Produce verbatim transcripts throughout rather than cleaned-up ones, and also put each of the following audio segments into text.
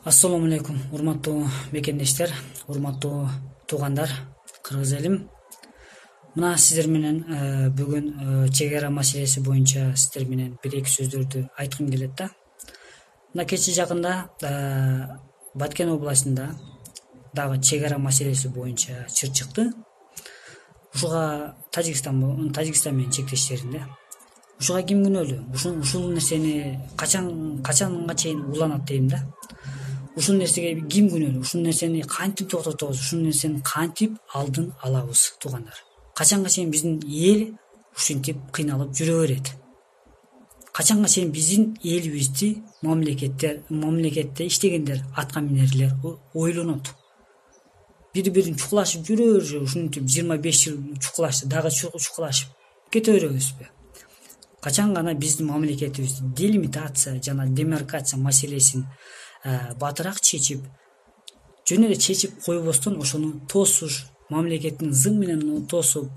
Ассаламу алейкум, урматтуу мекендештер, урматтуу туугандар, кыргыз элим. Мына сиздер менен бүгүн чек ара маселеси боюнча сиздер менен бир-эки сөздөрдү айткым келет да. Мына кечээ жакында Баткен областында дагы чек ара маселеси боюнча чыр чыкты. Ушуга Тажикстан Тажикстан менен чектештеринде. Ушуга ким күнөөлүү? Ушул ушул нерсени качан качанга чейин уланат дейм да. Ушул нерсеге ким күнөөлүү? Ушул нерсени кантип токтотобуз? Ушул нерсени кантип алдын алабыз, туугандар? Качанга чейин биздин эл ушинтип кыйналып жүрө берет? Качанга чейин биздин элибизди мамлекеттер мамлекетте иштегендер, атка минерлер ойлонот? Бири-бирин чукулашып жүрө берже, ушинтип жыйырма беш жыл чукулашты, дагы чукулашып кете беребизби? Качан гана биздин мамлекетибизди делимитация жана демаркация маселесин батыраак чечип, жөн эле чечип койбостон ошону тосуш, мамлекеттин зым менен тосуп,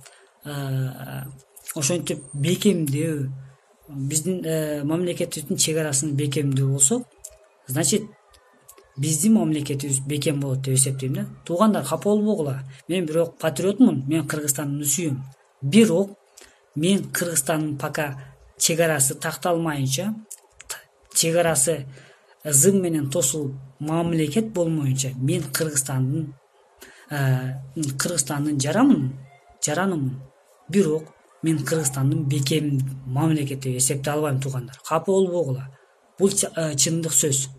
ошентип бекемдөө, биздин мамлекетибиздин чек арасын бекемдөө болсо, значит, биздин мамлекетибиз бекем болот деп эсептейм да. Туугандар, капа болбогула. Мен бирок патриотмун, мен Кыргызстанды сүйөм. Бирок мен Кыргызстандын пока чек арасы такталмайынча, чек арасы зым менен тосулуп, мамлекет болмоюнча мен Кыргызстандын Кыргызстандын жарамын, жаранымын. Бирок мен Кыргызстандын бекем мамлекет деп эсептей албайм, туугандар. Капа болбогула. Бул чындык сөз.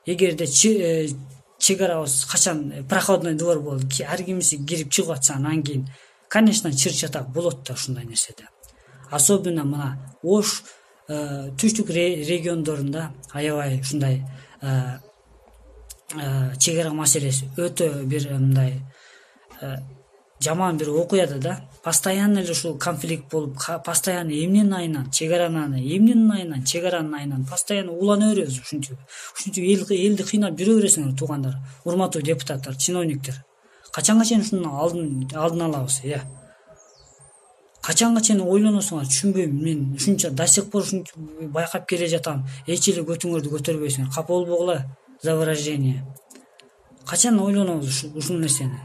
Эгерде чек арабыз качан проходной двор болуп, ар кимиси кирип чыгып атса, анан кийин, конечно, чыр-чатак болот да ушундай нерседе. Особенно мына Ош түштүк региондорунда аябай ушундай чек ара маселеси өтө бир мындай жаман бир окуяда да. Постоянно эле ушул конфликт болуп, постоянно эмненин айынан, чек аранын эмненин айынан, чек аранын айынан постоянно улана беребиз ушинтип. Ушинтип элди кыйнап жүрө бересиңер, туугандар, урматтуу депутаттар, чиновниктер. Качанга чейин ушунун алдын алдын алабыз, э? Качанга чейин ойлоносуңар, түшүнбөйм мен. Ушунча до сих пор ушинтип байкап келе жатам. Эч эле көтүңөрдү көтөрбөйсүңөр. Капа болбогула за выражение. Качан ойлонобуз ушул нерсени?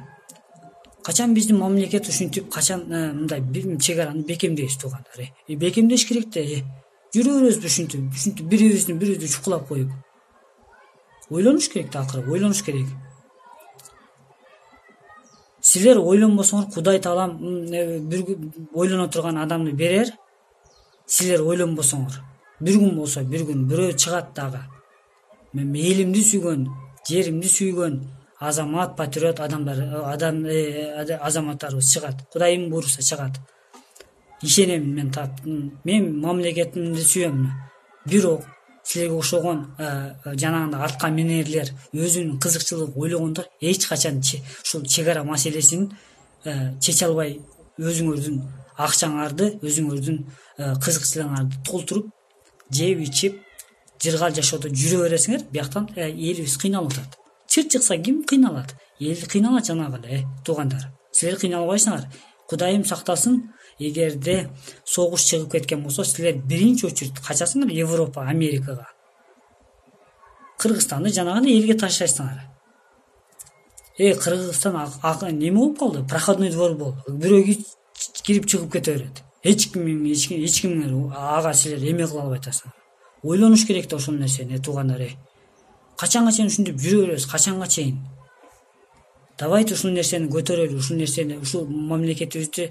Качан биздин мамлекет ушинтип качан мындай чек араны бекемдейбиз, туугандар? Э, бекемдеш керек да, э. Жүрө беребизби ушинтип, ушинтип бирибиздин бирибизди чукулап коюп? Ойлонуш керек да, акыры, ойлонуш керек. Силер ойлонбосоңор, Кудай Таалам бир ойлоно турган адамды берер. Силер ойлонбосоңор, бир күн болсо бир күн бирөө чыгат дагы. Мен элимди сүйгөн, жеримди сүйгөн азамат, патриот адамдар, адам азаматтарыбыз чыгат. Кудайым буйруса чыгат. Ишенем мен тап. Мен мамлекетимди сүйөм. Бирок силерге окшогон жанагындай артка минерлер, өзүнүн кызыкчылыгын ойлогондор эч качан ушул чек ара маселесин чече албай, өзүңөрдүн акчаңарды, өзүңөрдүн кызыкчылыгыңарды толтуруп, жеп ичип, жыргал жашоодо жүрө бересиңер. Бияктан элибиз кыйналып атат. Чыр чыкса ким кыйналат? Эл кыйналат жанагы эле, туугандар. Силер кыйналбайсыңар. Кудайым сактасын. Эгерде согуш чыгып кеткен болсо, силер биринчи очередь качасыңар Европа, Америкага. Кыргызстанды жанагы элге таштайсыңар. Э, Кыргызстан неме болуп калды? Проходной двор болду. Бирөө кирип чыгып кете берет. Эч ким, эч ким, эч ким ага силер эме кыла албай атасыңар. Ойлонуш керек да ошол нерсени, туугандар. Качанга чейин ушинтип жүрө беребиз? Качанга чейин? Давайте ушул нерсени көтөрөлү, ушул нерсени, ушул мамлекетибизди,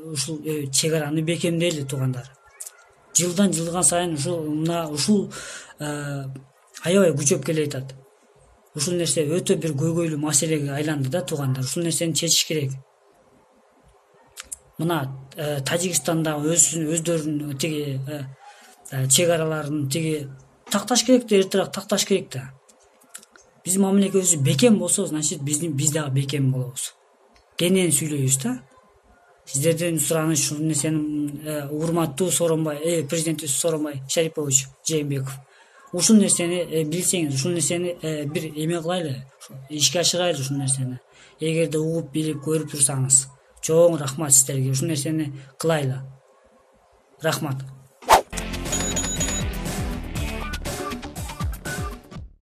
ушул чек араны бекемдейли, туугандар. Жылдан жылга сайын ушул мына ушул аябай күчөп келе жатат. Ушул нерсе өтө бир көйгөйлүү маселеге айланды да, туугандар. Ушул нерсени чечиш керек. Мына Тажикстанда өздөрүнүн тиги чек араларын тиги такташ керек да, эртерээк такташ керек да. Биздин мамлекетибиз бекем болсо, значит, биздин биз дагы бекем болобуз. Кенен сүйлөйбүз да. Сиздерден сураныч ушул нерсени, урматтуу Сооронбай, э, президентибиз Сооронбай Шарипович Жээнбеков. Ушул нерсени билсеңиз, ушул нерсени бир эме кылайлы, ишке ашырайлы ушул нерсени. Эгерде угуп, билип, көрүп турсаңыз, чоң рахмат сиздерге. Ушул нерсени кылайлы. Рахмат.